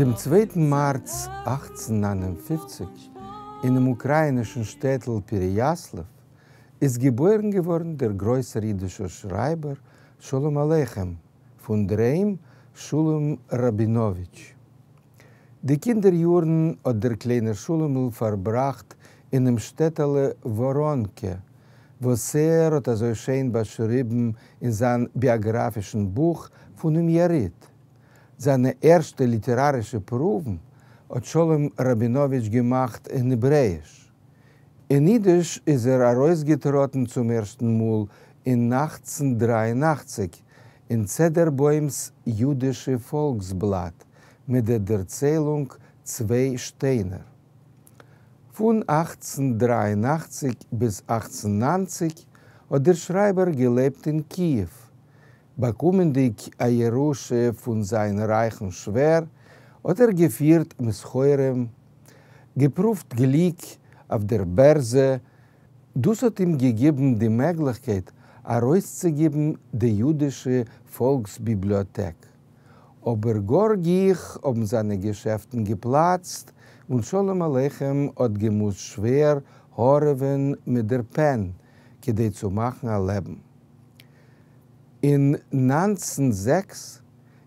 דעם צווייטן מאַרץ 1859, אינעם אוקראַיִנישן שטעטל פּערעיאַסלעוו, איז געבוירן געוואָרן דער גרויסער ייִדישער שרײַבער שלום עליכם, פֿון דער היים שלום ראַבינאָוויטש. די קינדער-יאָרן האָט דער קליינער שלומל פֿאַרבראַכט אינעם שטעטעלע וואָראָנקע, וואָס ער האָט אַזוי שיין באַשריבן אין זײַן ביאָגראַפֿישן בוך פֿונעם יריד. זײַנע ערשטע ליטעראַרישע פּרוּוון האָט שלום ראַבינאָוויטש געמאַכט אין העברעיִש. אין ייִדיש איז ער אַרויסגעטראָטן צום ערשטן מאָל אין 1883 אין צעדערבוימס יודישע פֿאָלקסבלאַט מיט דער דערציילונג צוויי שטיינער. פֿון 1883 ביז 1890 האָט דער שרײַבער געלעבט אין קיִעוו, באַקומענדיק אַ ירושה פֿון זײַן רײַכן שווער, האָט ער געפֿירט מסחרים, געפּרוּווט גליק אויף דער בערזע, דאָס האָט אים געגעבן די מעגלעכקייט אַרויסצוגעבן די יודישע פֿאָלקסביבליאָטעק. אָבער גאָר גיך האָבן זײַנע געשעפֿטן געפּלאַצט און שלום-עליכם האָט געמוזט שווער האָרעווען מיט דער פּען, כּדי צו מאַכן אַ לעבן. אין 1906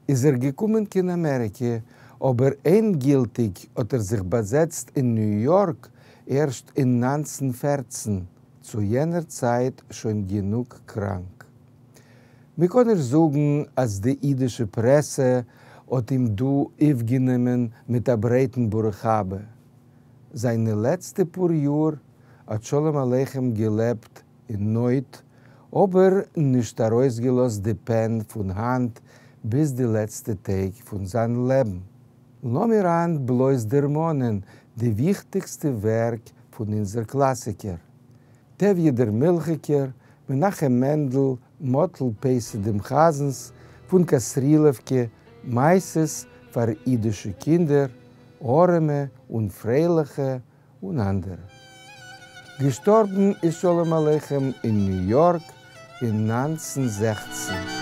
איז ער געקומען קיין אמעריקע, אבער ענדגילטיג האט ער זיך באזעצט אין ניו יארק ערשט אין 1914, צו יענער צייט שוין גענוג קראנק. מ'קען נישט זאגן אז די אידישע פרעסע האט אים דא אויפגענומען מיט א ברייטן ברוך הבא. זיינע לעצטע פאר יאר האט שלום עליכם געלעבט אין נויט, אבער נישט ארויסגעלאזט די פען פון האנט ביז די לעצטע טעג פון זיין לעבן. לאמיר היינט בלויז דערמאנען די וויכטיגסטע ווערק פון אונזער קלאסיקער, טביה דער מילכיגער, מנחם מענדל, מאטל פייסי דעם חזנ'ס, פון כתרילעווקע, מעשיות פאר אידישע קינדער, ארעמע און פרייליכע, און אנדערע. געשטארבן איז שלום עליכם אין ניו יארק אין 1916.